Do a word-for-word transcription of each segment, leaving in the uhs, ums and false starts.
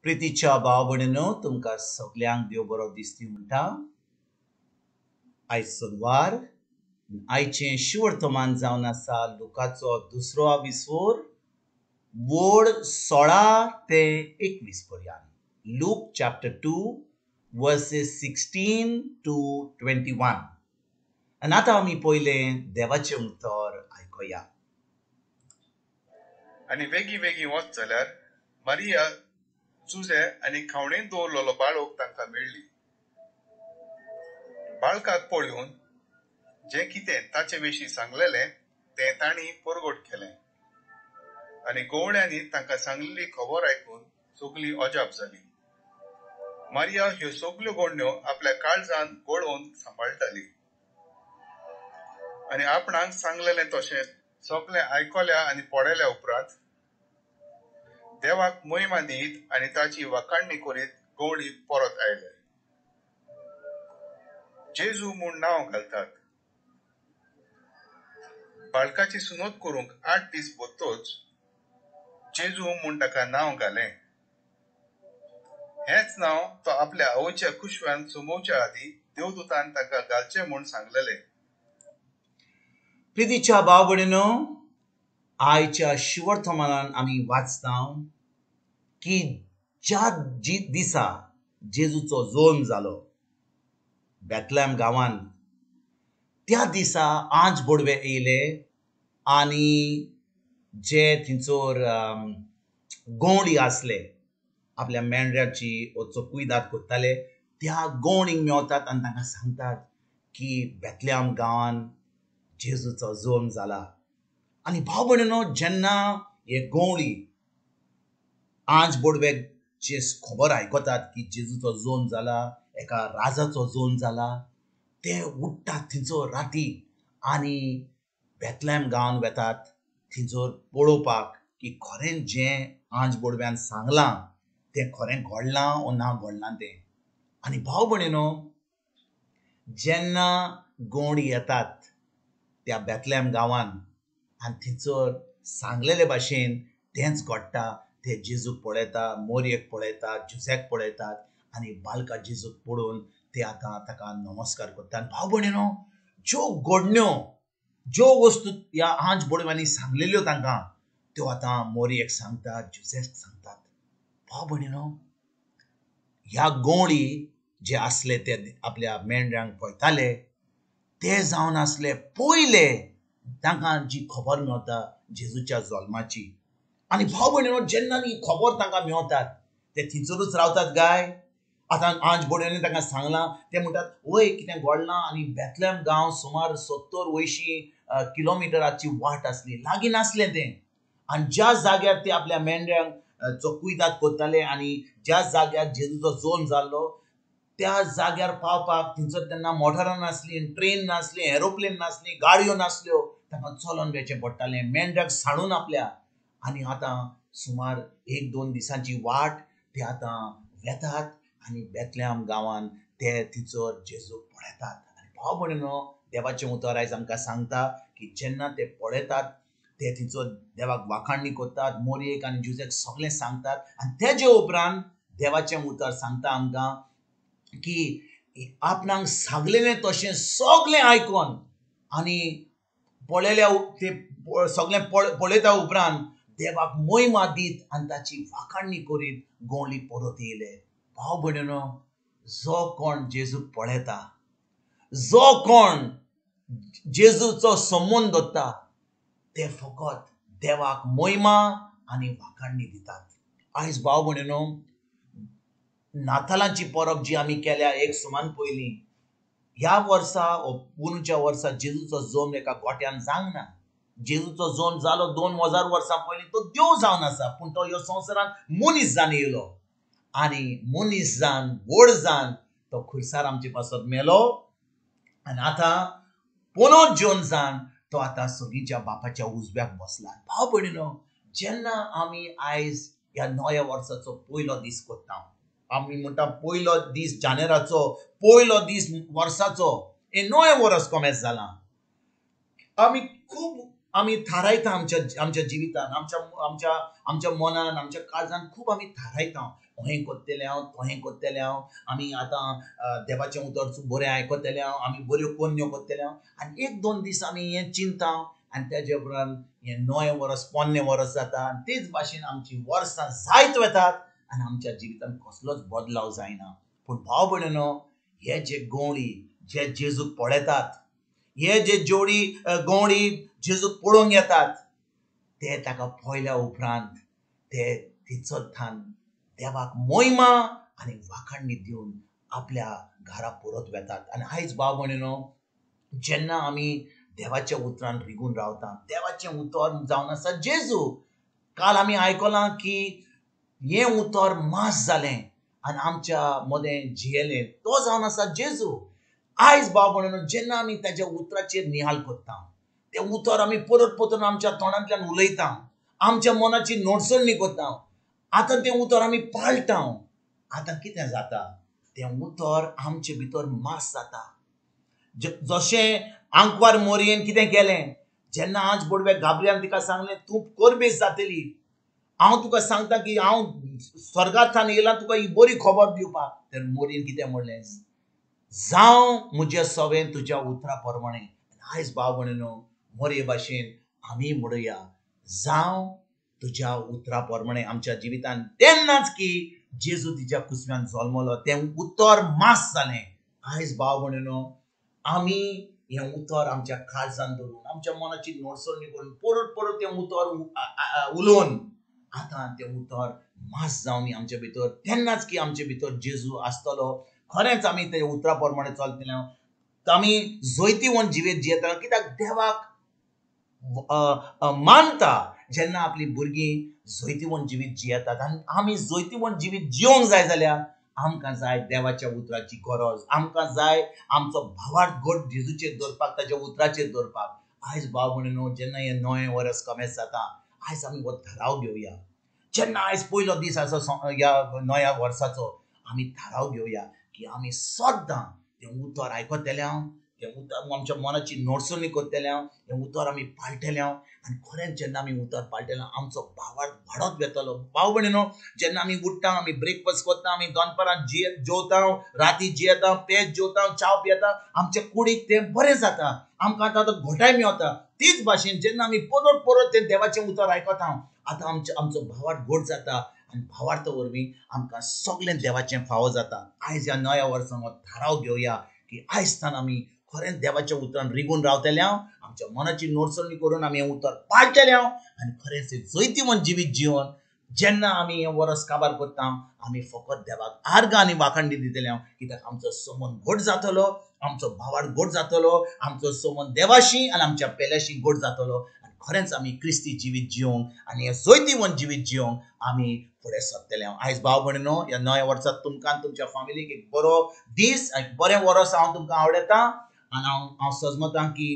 प्रितीच्या भाव भयणीनो, तुमकां सगल्यांक देव बरो दिसती म्हणटा. आयज सोनवार, आयचें शिवर्तमान जावन आसा लुकाचो दुसरो आविस्वोर वोड सोळा ते एकवीस पर्यंत. Luke chapter two verses sixteen to twenty one. आनी आतां आमी पयलें देवाचें उतर आयकुया. आनी वेगीं वेगीं वच जाल्यार मारिया, जुजे आनी खावणेन दवरलेलो बाळक तांकां मेळ्ळी. बाळकाक पळोवन जें कितें ताचे विशीं सांगलेलें तें तांणी परगट केलें. आनी गवळ्यांनी तांकां सांगलेली खबर आयकून सगळीं अजाप जाली. मारिया ह्यो सगल्यो गोडण्यो आपल्या काळजान गोळोवन सांबाळटाली आनी आपणाक सांगलेलें तशें सगळें आयकल्या आनी पळयल्या उपरांत देवाक महिमा दीत आनी ताची वाखाणणी करीत गवळी परत आयले. जेजू म्हूण नांव घालतात. बाळकाची सुनत करूंक आठ दीस भरतच जेजू म्हूण ताका नांव घालें. हेंच नांव तो आपल्या आवयच्या कुशव्यान सुमोवच्या आदीं देवदूतान ताका घालचें म्हूण सांगलेलें. प्रितीच्या भाव भयणीनो, आयच्या शिवर्तमानान आमी वाचता की ज्या जी दिसा जेजूचो जल्म जालो बेतलेम गांवान, त्या दिसा आंज बोडवे येयले आनी जे थंयसर गवळी आसले आपल्या मेंढऱ्याची कुयदाद करताले त्या गवळींक मेवतात आनी तांकां सांगतात की बेतलेम गांवान जेजूचो जल्म जाला. आनी भाव भयणीनो, जेन्ना हे गवळी आंज बोडव्याची खबर आयकतात की जेजूचो जल्म जाला, एका राजाचो जल्म जाला, ते उठ्ठात थंयसर राती आनी बेतलेम गांवान वेतात थंयसर पळोवपाक की खरें जें आंज बोडव्यान सांगलां तें खरें घडलां ओ ना घडलां तें. आनी भाव भयणीनो, जेन्ना गवळी येतात त्या बेतलेम गांवान आनी थंयसर सांगलेले भाशेन तेंच घडटा. ते जेजूक पळयता, मोरयेक पळयतात, जुझ्याक पळयतात आनी बालका जेजूक पळोवन ते आतां ताका नमस्कार करतात. भाव भयणीनो, ज्यो घडण्यो ज्यो वस्तू ह्या आंज बोडव्यांनी सांगलेल्यो तांकां त्यो आतां मोरयेक सांगतात, जुझ्याक सांगतात. भाव भयणीनो, ह्या गवळी जे आसले ते आपल्या मेंढऱ्यांक पळयताले ते जावन आसले पयले तांकां जी खबर मेवता जेजूच्या जल्माची. आनी भाव भयणीनो, जेन्ना ही खबर तांकां मेवतात ते थंयसरूच रावतात गाय. आतां आंज बोडव्यांनी तांकां सांगलां, ते म्हणटात वय कितें घडलां. आनी बेतलेम गांव सुमार सत्तर अंयशीं किलोमिटराची वाट आसली, लागीं नासलें तें. आनी ज्या जाग्यार ते आपल्या मेंढऱ्यांक कुयदाद करताले आनी ज्या जाग्यार जेजूचो जल्म जाल्लो त्या जाग्यार पावपाक थंयसर तेन्ना मोटरां नासलीं, ट्रेन नासली, एरोप्लेन नासली, गाडयो नासल्यो, तांकां चलोन वचचें पडटालें मेंढऱ्याक सांडून आपल्या. आनी आतां सुमार एक दोन दिसांची वाट ते आतां वेतात आनी बेतलेम गांवान ते थंयसर जेजूक पळयतात. आनी भाव भयणीनो, देवाचें उतर आयज आमकां सांगता की जेन्ना ते पळयतात ते थंयसर देवाक वाखाणणी करतात, मोरयेक आनी जुझ्याक सगळें सांगतात. आनी तेजे उपरांत देवाचें उतर सांगता आमकां की आपणाक सांगलेलें तशें सगळें आयकोन आनी पळयल्या ते सगळें पळयता उपरांत देवाक महिमा दीत आनी ताची वाखाणणी करीत गवळी परत येयले. भाव भयणीनो, जो कोण जेजूक पळयता, जो कोण जेजूचो संबंद दवरता ते फकत देवाक महिमा आनी वाखाणणी दितात. आयज भाव भयणीनो, नातालांची परब जी आमी केल्या एक सुमान पयलीं, ह्या वर्सा पोरूंच्या वर्सा जेजूचो जल्म एका गोट्यान जावंक ना. जेजूचो जल्म जालो दोन हजार वर्सां पयलीं, तो देव जावन आसा, पूण तो ह्या संवसारांत मनीस जावन येयलो आनी मनीस जावन व्हड जावन तो खुर्सार आमचे पासत मेलो आनी आतां पोनोत जेवन जावन तो आतां सगळींच्या बापाच्या उजव्याक बसला. भाव भयणीनो, जेन्ना आमी आयज ह्या नव्या वर्साचो पयलो दीस करता, आमी म्हणटा पयलो दीस जानेराचो, पयलो दीस वर्साचो, हें नवें वर्स कोमेस जालां. आमी खूब आमी थारायता आमच्या आमच्या जिवितान, आमच्या आमच्या आमच्या मनान, आमच्या काळजान खूब आमी थारायता, हें करतलें हांव, तोहें करतलें हांव, आमी आतां देवाचें उतर बरें आयकतलें हांव, आमी बऱ्यो कोन्न्यो करतले हांव. आनी एक दोन दीस आमी हें चिंता आनी तेजे उपरांत हें नवें वर्स पोन्नें वर्स जाता आनी तेच भाशेन आमची वर्सां जायत वतात आनी आमच्या जिवितांत कसलोच बदलाव जायना. पूण भाव भयणीनो, हे जे गवळी जे जेजूक पळयतात, हे जे जोडी गवळी जेजूक पळोवंक येतात, ते ताका पळयल्या उपरांत ते तिचोथान देवाक मोहिमा आनी वाखाणणी दिवन आपल्या घरा परत वेतात. आनी आयज भाव भयणीनो, जेन्ना आमी देवाच्या उतरान रिगून रावता, देवाचें उतर जावन आसा जेजू. काल आमी आयकलां की हें उतर मास जालें आनी आमच्या मदें जियेलें, तो जावन आसा जेजू. आयज भाव भयणीनो, जेन्ना आमी ताच्या उतराचेर निहाल करता, तें उतर आमी परत परतून आमच्या तोंडांतल्यान उलयता, आमच्या मनाची नोटसणी करता, आतां तें उतर आमी पाळटा. आतां कितें जाता, तें उतर आमचे भितर मास जाता. जशें आंकवार मोरयेन कितें केलें, जेन्ना आज बोडवे गाब्रियान तिका सांगलें तूं कोरबेस जातली, हांव तुका सांगता की हांव स्वर्गांतल्यान येयला तुका ही बरी खबर दिवपाक, तर मोरयेन कितें म्हणलें, जावं म्हज्या सवें तुज्या उतरा प्रमाणें. आयज भाव भयणीनो, मोरये भाशेन आमी म्हणुया, जावं तुज्या उतरा प्रमाणें आमच्या जिवितान. तेन्नाच की जेजू तिच्या कुसव्यान जल्मलो, तें उतर मास जालें. आयज भाव भयणीनो, आमी हें उतर आमच्या काळजान धरून, आमच्या मनाची नोटसणी करून परत परत तें उतर उलोवन आतां तें उतर मास जावन आमच्या भितर, तेन्नाच की आमचे भितर जेजू आसतलो. खरेंच आमी ते उतरा प्रमाणे चलतले, आमी जैतिवंत जिवीत जियेतले. कित्याक देवाक मानता जेन्ना आपली भुरगीं जैतिवंत जिवीत जियेतात. आनी आमी जैतिवंत जिवीत जियोंक जाय जाल्यार आमकां जाय देवाच्या उतराची गरज, आमकां जाय आमचो भावार्थ घट जेजूचेर दवरपाक, ताच्या उतराचेर दवरपाक. आयज भाव भयणीनो, जेन्ना हें नवें वर्स कमेस जाता, आयज आमी हो थाराव घेवया. जेन्ना आयज पयलो दीस आसा ह्या नव्या वर्साचो, आमी थाराव घेवया की आमी सद्दां तें उतर आयकतले हांव, तें उतर आमच्या मनाची नोटसणी करतले हांव, तें उतर आमी पाळटले हांव. आनी खरेंच जेन्ना आमी उतर पाळटले आमचो भावार्थ वाडत वेतलो. भाव भयणीनो, जेन्ना आमी उठ्ठा, आमी ब्रेकफास्ट करता, आमी दनपारां जिये जेवता, राती जियेता, पेज जेवता, च्याव पियेता, आमच्या कुडीक तें बरें जाता, आमकां आतां घोटाय मेवता. तीच भाशेन जेन्ना आमी परत परत तें देवाचें उतर आयकता, आतां आमचो आमचो भावार्थ घट जाता आनी भावार्थ वरवीं आमकां सगळें देवाचें फावो जाता. आयज ह्या नव्या वर्सां हो थाराव घेवया की आयज तान आमी खरेंच देवाच्या उतरान रिगून रावतले हांव, आमच्या मनाची नोटसणी करून आमी हें उतर पाळटले हांव आनी खरेंच जैतिवंत जिवीत जिवन जेन्ना आमी हें वर्स काबार करता, आमी फकत देवाक आर्गां आनी वाखाणणी दितले हांव. कित्याक आमचो समन घट जातलो, आमचो भावार्थ घट जातलो, आमचो समन देवाशी आनी आमच्या पेल्याशी घट जातलो आनी खरेंच आमी क्रिस्ती जिवीत जिवंक आनी हें जैतिवंत जिवीत जिवंक आमी फुडें सरतले हांव. आयज भाव भयणीनो, ह्या नव्या वर्साक तुमकां आनी तुमच्या फामिलीक एक बरो दीस, एक बरें वर्स हांव तुमकां आवडटा. आनी हांव हांव सजमतां की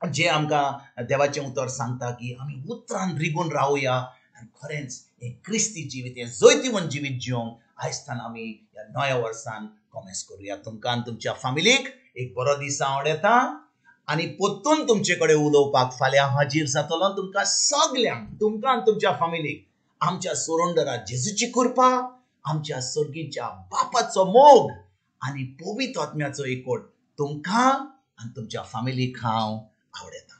जे आमकां देवाचें उतर सांगता की आमी उतरान रिगून रावया आनी खरेंच हें क्रिस्ती जिवीत, हें जैतिवंत जिवीत जिवंक आयज तान आमी ह्या नव्या वर्सान कॉमेस करुया. तुमकां आनी तुमच्या फामिलीक एक बरो दीस आवडटा आनी परतून तुमचे कडेन उलोवपाक फाल्यां हाजीर जातलो. तुमकां सगल्यांक, तुमकां आनी तुमच्या फामिलीक आमच्या सोरंडरा जेजूची कृपा, आमच्या सर्गीच्या बापाचो मोग आनी पवित्र आत्म्याचो एकवट तुमकां आनी तुमच्या फामिलीक हांव आवडटा.